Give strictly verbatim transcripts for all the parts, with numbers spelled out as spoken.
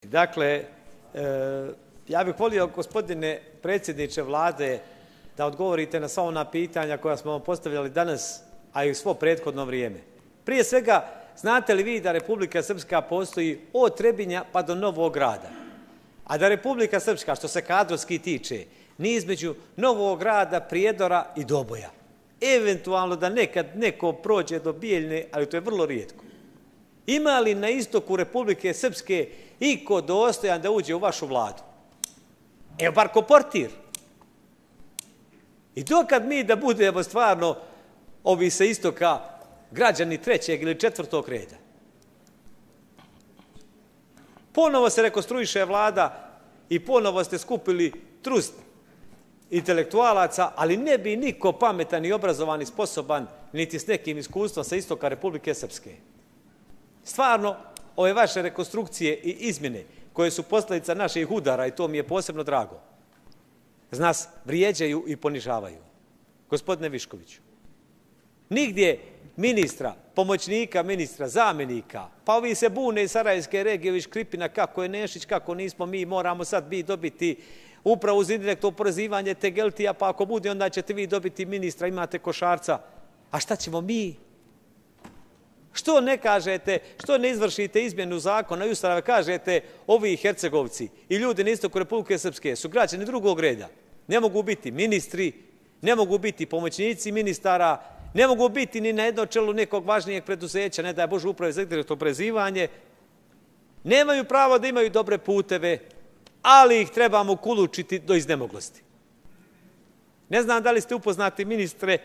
Dakle, ja bih volio, gospodine predsjedniče Vlade, da odgovorite na sva ona pitanja koja smo vam postavljali danas, a i u svo prethodno vrijeme. Prije svega, znate li vi da Republika Srpska postoji od Trebinja pa do Novog Grada? A da Republika Srpska, što se kadrovski tiče, nije između Novog Grada, Prijedora i Doboja. Eventualno da nekad neko prođe do Bijeljne, ali to je vrlo rijetko. Ima li na istoku Republike Srpske iko dostojan da uđe u vašu vladu? Evo bar ko portir. I dokad mi da budemo stvarno ovi sa istoka građani trećeg ili četvrtog reda? Ponovo se rekonstruiše vlada i ponovo ste skupili trust intelektualaca, ali ne bi niko pametan i obrazovan i sposoban, niti s nekim iskustvom sa istoka Republike Srpske. Stvarno, ove vaše rekonstrukcije i izmjene, koje su posljedica naših udara, i to mi je posebno drago, nas vrijeđaju i ponižavaju. Gospodine Viškoviću, nigdje ministra, pomoćnika ministra, zamjenika, pa ovi se bune iz Sarajevske regije, Škripina, kako je Nešić, kako nismo mi, moramo sad mi dobiti upravo uz indirektno oporezivanje Tegeltija, pa ako bude, onda ćete vi dobiti ministra, imate Košarca. A šta ćemo mi? Što ne kažete, što ne izvršite izmjenu zakona i Ustava, kažete ovi Hercegovci i ljudi na istoku Republike Srpske su građani drugog reda. Ne mogu biti ministri, ne mogu biti pomoćnici ministara, ne mogu biti ni na jedno čelu nekog važnijeg preduzeća, ne daj Bože uprave za indirektno oporezivanje. Nemaju pravo da imaju dobre puteve, ali ih trebamo kulučiti do iznemoglosti. Ne znam da li ste upoznati, ministre,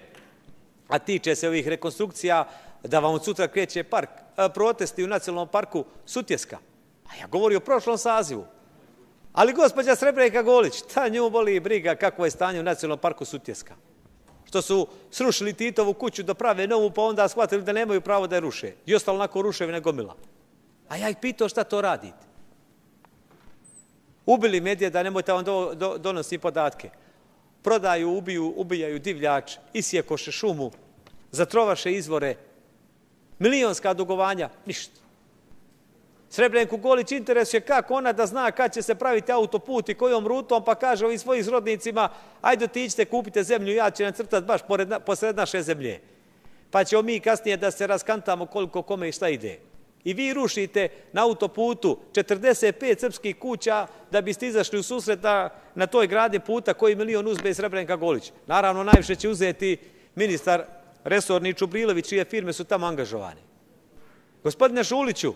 a tiče se ovih rekonstrukcija, da vam od sutra kreće park, protesti u nacionalnom parku Sutjeska. A ja govorim o prošlom sazivu. Ali gospođa Srebrenka Golić, ta nju boli i briga kako je stanje u nacionalnom parku Sutjeska. Što su srušili Titovu kuću da prave novu, pa onda shvatili da nemaju pravo da je ruše. I ostalo onako ruševina gomila. A ja ih pitao šta to radite. Ubili medije, da nemojte vam do, do, donosi podatke. Prodaju, ubiju, ubijaju divljač, isjekoše šumu, zatrovaše izvore, milionska dugovanja, ništa. Srebrenku Golić interesuje kako ona da zna kad će se praviti autoput i kojom rutom, pa kaže ovim svojim srodnicima, ajde otiđite, kupite zemlju, ja ću nacrtati baš pored, posred naše zemlje. Pa ćemo mi kasnije da se raskantamo koliko kome i šta ide. I vi rušite na autoputu četrdeset pet srpskih kuća da biste izašli u susret na, na toj gradi puta koji milion uzme Srebrenka Golić. Naravno, najviše će uzeti ministar resorni Čubrilović, čije firme su tamo angažovane. Gospodine Šuliću,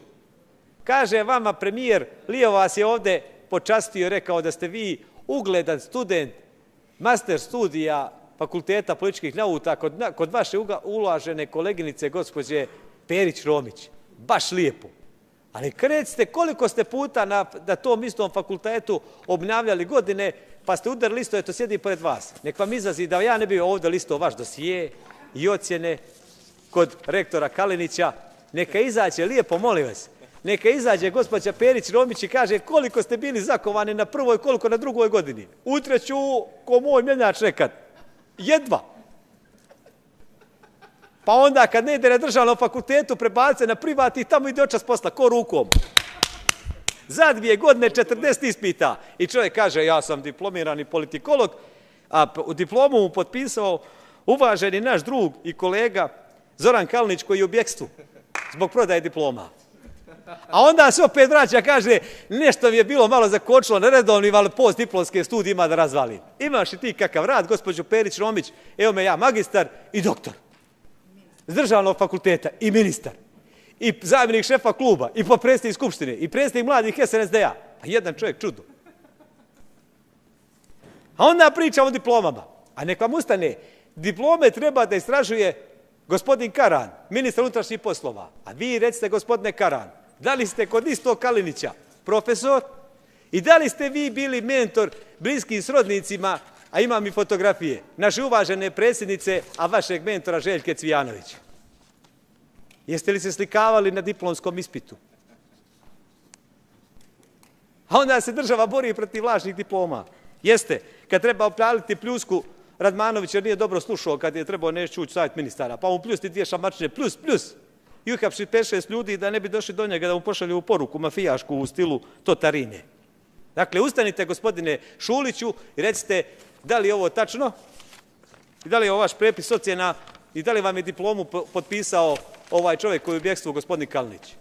kaže vama premijer, Lio vas je ovde počastio i rekao da ste vi ugledan student master studija Fakulteta političkih nauka kod, kod vaše ulažene koleginice gospođe Perić-Romić. Baš lijepo. Ali recite koliko ste puta na, na tom istom fakultetu obnavljali godine, pa ste udarili listo, eto sjedi pored vas. Nek vam izlazi da ja ne bi ovdje listao vaš dosije i ocjene kod rektora Kalinića. Neka izađe, lijepo, molim vas, neka izađe gospođa Perić-Romić i kaže koliko ste bili zakovani na prvoj, koliko na drugoj godini. Utreću ko moj mjenjač nekad. Jedva. Pa onda kad ne ide na državnom fakultetu, prebace na privat i tamo ide očas posla, ko rukom. Za dvije godine četrdeset ispita. I čovjek kaže, ja sam diplomirani politikolog, a u diplomu mu potpisao uvaženi naš drug i kolega Zoran Kalinić koji je u bjekstvu zbog prodaje diploma. A onda se opet vraća, kaže, nešto mi je bilo malo zakočilo na redovnim, ali postdiplomske studije ima da razvalim. Imaš i ti kakav rad, gospođo Perić-Romić, evo me ja magistar i doktor. S državnog fakulteta i ministar. I zamjenik šefa kluba, i potpredsjednik skupštine, i predsjednik mladih S N S D A. Pa jedan čovjek čudo. A onda pričamo o diplomama. A nek vam ustane, diplome treba da istražuje gospodin Karan, ministar unutrašnjih poslova. A vi recite, gospodine Karan, da li ste kod istog Kalinića profesor i da li ste vi bili mentor bliskim srodnicima, a imam i fotografije, naše uvažene predsjednice, a vašeg mentora Željke Cvijanovića? Jeste li se slikavali na diplomskom ispitu? A onda se država bori protiv lažnih diploma. Jeste, kad treba opaliti pljusku Radmanović jer nije dobro slušao kad je trebao nešto ući savjet ministara, pa mu pljusti dvije šamačine, plus, plus. i uhapsi pet šest ljudi da ne bi došli do njega da mu pošalju poruku mafijašku u stilu Totarine. Dakle, ustanite, gospodine Šuliću, i recite da li je ovo tačno i da li je ovo vaš prepis ocjena i da li vam je diplomu potpisao ovaj čovjek koji je u bjekstvu, gospodin Kalinić.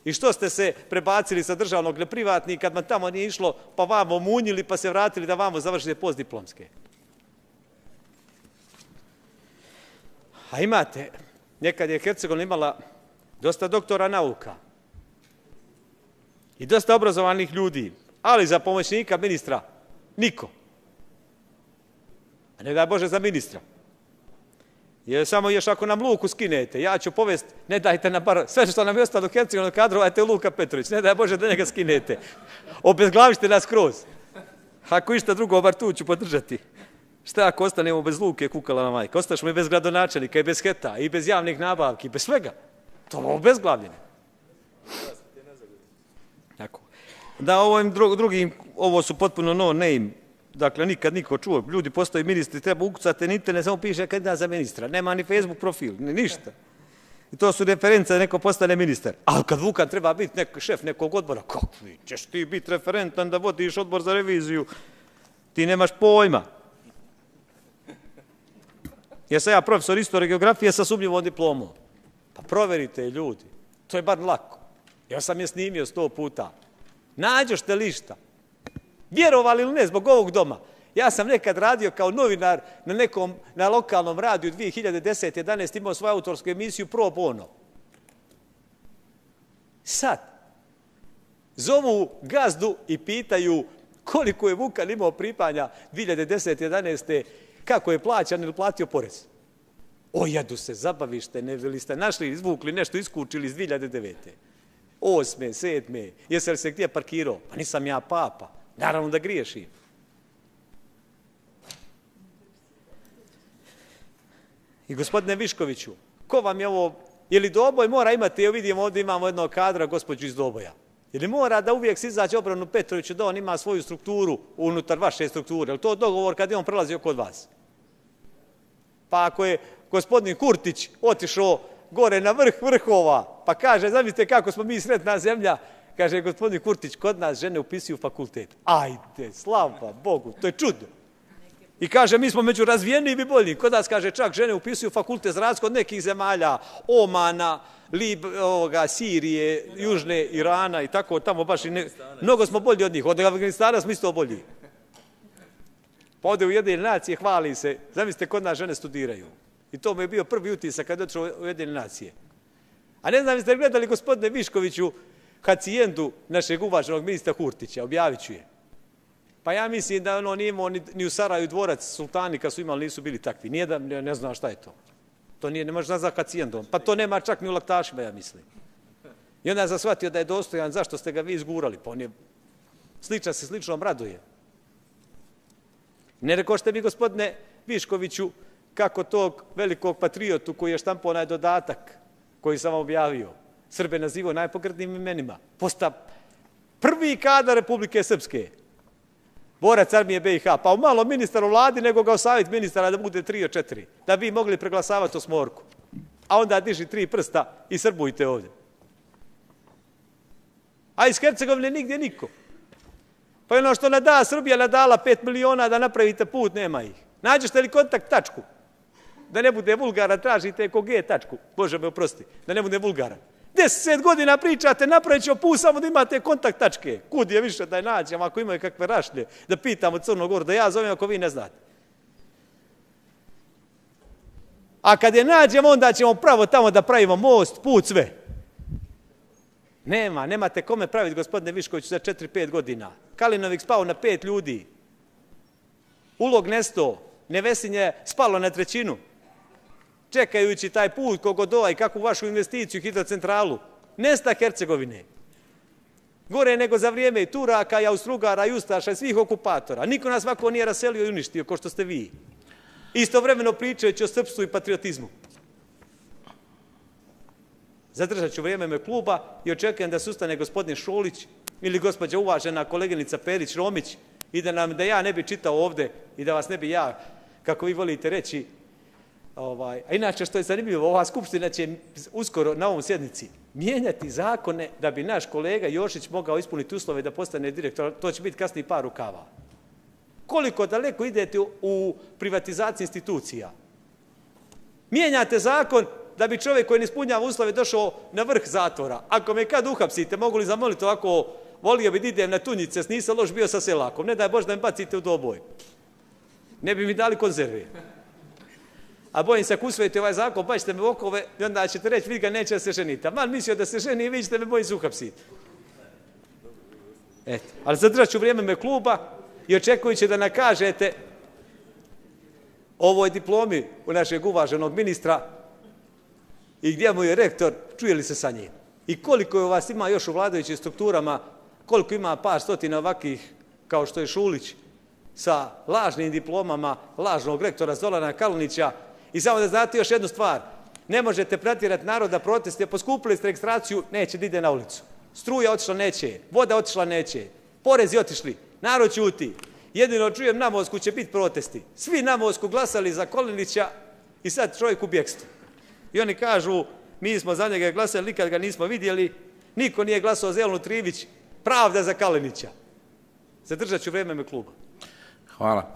I što ste se prebacili sa državnog na privatni kad vam tamo nije išlo, pa vamo munjili, pa se vratili da vamo završite postdiplomske. A imate, nekad je Hercegovina imala dosta doktora nauka i dosta obrazovanih ljudi, ali za pomoćnika ministra niko. A ne daj Bože za ministra. Jer samo još ako nam Luku skinete, ja ću povest, ne dajte nam bar, sve što nam je ostalo Hercegovina kadrovajte Luka Petrović, ne daj Bože da njega skinete. Obezglavište nas kroz. Ako išta drugo, bar tu ću podržati. Šta ako ostanemo bez Luke, kukala na majka? Ostašemo i bez gradonačelnika, i bez heta, i bez javnih nabavki, bez svega. To je obezglavljeno. Tako. Da, ovim drugim, ovo su potpuno no name, dakle, nikad niko čuo. Ljudi postaju ministri, treba ukucati na internet, samo piše kandidat za ministra. Nema ni Facebook profil, ni ništa. I to su reference da neko postane ministar. Ali kad Vukan treba biti nek, šef nekog odbora, kako ćeš ti biti referentan da vodiš odbor za reviziju? Ti nemaš pojma. Jer sam ja profesor istorije geografije sa sumnjivom diplomom. Pa proverite ljudi. To je bar lako. Ja sam je snimio sto puta. Nađošte li šta? Vjerovali ili ne, zbog ovog doma. Ja sam nekad radio kao novinar na nekom, na lokalnom radiju dvije hiljade desete jedanaeste imao svoju autorsku emisiju Pro Bono. Sad, zovu gazdu i pitaju koliko je Vukan imao pripanja dvije hiljade desete jedanaeste kako je plaćan ili platio porez. O, jedu se, zabavište, ne li ste našli, izvukli nešto, iskučili iz dvije hiljade devete. Osme, sedme, jesi li se gdje parkirao? Pa nisam ja papa. Naravno da griješim. I gospodine Viškoviću, ko vam je ovo, je li Doboj mora imati, evo vidimo ovdje imamo jednog kadra, gospođu iz Doboja. Je li mora da uvijek se izađe obranu Petroviću da on ima svoju strukturu unutar vaše strukture? Je li to dogovor kad je on prelazio kod vas? Pa ako je gospodin Kurtić otišao gore na vrh vrhova, pa kaže, zamislite kako smo mi sretna zemlja, kaže gospodin Kurtić, kod nas žene upisuju fakultet. Ajde, slava Bogu, to je čudo. I kaže, mi smo među razvijenijim i boljim. Kod nas, kaže, čak žene upisuju fakultet za razliku od nekih zemalja, Omana, Lib, ovoga, Sirije, Južne, Irana i tako, tamo baš i ne... Mnogo smo bolji od njih, od Afganistana smo isto bolji. Pa ode u Ujedinjene nacije, hvali se, zamislite, kod nas žene studiraju. I to mu je bio prvi utisak kad je otišao u Ujedinjene nacije. A ne znam, ste gledali, gospodine Viškoviću, hacijendu našeg uvaženog ministra Hurtića, objavit ću je. Pa ja mislim da ono nije imao ni, ni u Saraju dvorac sultani kad su imali, nisu bili takvi. Nije da ne, ne zna šta je to. To nije, ne može nazvati hacijendom. Pa to nema čak ni u Laktašima, ja mislim. I onda sam shvatio da je dostojan, zašto ste ga vi izgurali. Pa on je, sličan se sličnom raduje. Ne rekošte mi, gospodine Viškoviću, kako tog velikog patriotu koji je štampao onaj dodatak koji sam vam objavio, Srbe nazivao najpogrdnijim imenima, posta prvi kadar Republike Srpske, borac armije be i ha, pa malo ministar u vladi, nego ga osaviti ministara da bude tri od četiri, da bi mogli preglasavati osmorku. A onda diži tri prsta i srbujte ovdje. A iz Hercegovine nigdje niko. Pa ono što nada Srbija nadala pet miliona da napravite put, nema ih. Nađete li kontakt tačku? Da ne bude vulgaran, tražite eko ge tačku. Bože me oprosti, da ne bude vulgaran. Deset godina pričate, napravit ćemo put samo da imate kontakt tačke. Kud je više da je nađemo, ako imaju kakve rašlje, da pitamo Crnu Goru, da ja zovem ako vi ne znate. A kad je nađemo, onda ćemo pravo tamo da pravimo most, put, sve. Nema, nemate kome praviti, gospodine Viškoviću, za četiri pet godina. Kalinovik spao na pet ljudi. Ulog nesto, Nevesinje spalo na trećinu. Čekajući taj put kogodova i kakvu vašu investiciju, hidrocentralu. Nesta Hercegovine. Gore nego za vrijeme i Turaka, i Austrugara, i Ustaša, i svih okupatora. Niko nas ovako nije raselio i uništio, ko što ste vi. Istovremeno pričajući o srpstvu i patriotizmu. Zadržat ću vrijeme me kluba i očekujem da se ustane gospodin Šolić ili gospođa uvažena koleginica Ovaj, a inače, što je zanimljivo, ova skupština će uskoro na ovom sjednici mijenjati zakone da bi naš kolega Jošić mogao ispuniti uslove da postane direktor. To će biti kasnije par rukava. Koliko daleko idete u privatizaciji institucija? Mijenjate zakon da bi čovjek koji ne ispunjava uslove došao na vrh zatvora. Ako me kad uhapsite, mogu li zamoliti ovako, volio bi da idem na tunjice, nisam loš bio sa selakom, ne daj Bože da me bacite u doboj. Ne bi mi dali konzerve. A bojim se, ako usvojite ovaj zakon, pa ćete me u okove i onda ćete reći, vidi ga, neće da se ženite. A man mislio da se ženi i vi ćete me bojim se uhapsiti. Eto, ali zadržat ću vrijeme me kluba i očekujući da nakažete ovoj diplomi u našeg uvaženog ministra i gdje mu je rektor, čuje li se sa njim? I koliko vas ima još u vladajućim strukturama, koliko ima par stotina ovakvih, kao što je Šulić, sa lažnim diplomama lažnog rektora Zorana Kalinića. I samo da znate još jednu stvar, ne možete pratjerati narod da protestuje, poskupili ste registraciju, neće da ide na ulicu. Struja otišla, neće, voda otišla, neće, porezi otišli, narod ćuti. Jedino čujem na Mosku će biti protesti. Svi na Mosku glasali za Kalinića i sad čovjek u bjekstvu. I oni kažu, mi smo za njega glasali, nikad ga nismo vidjeli, niko nije glasao za Jelenu Trivić, pravda za Kalinića. Zadržat ću vrijeme me kluba. Hvala.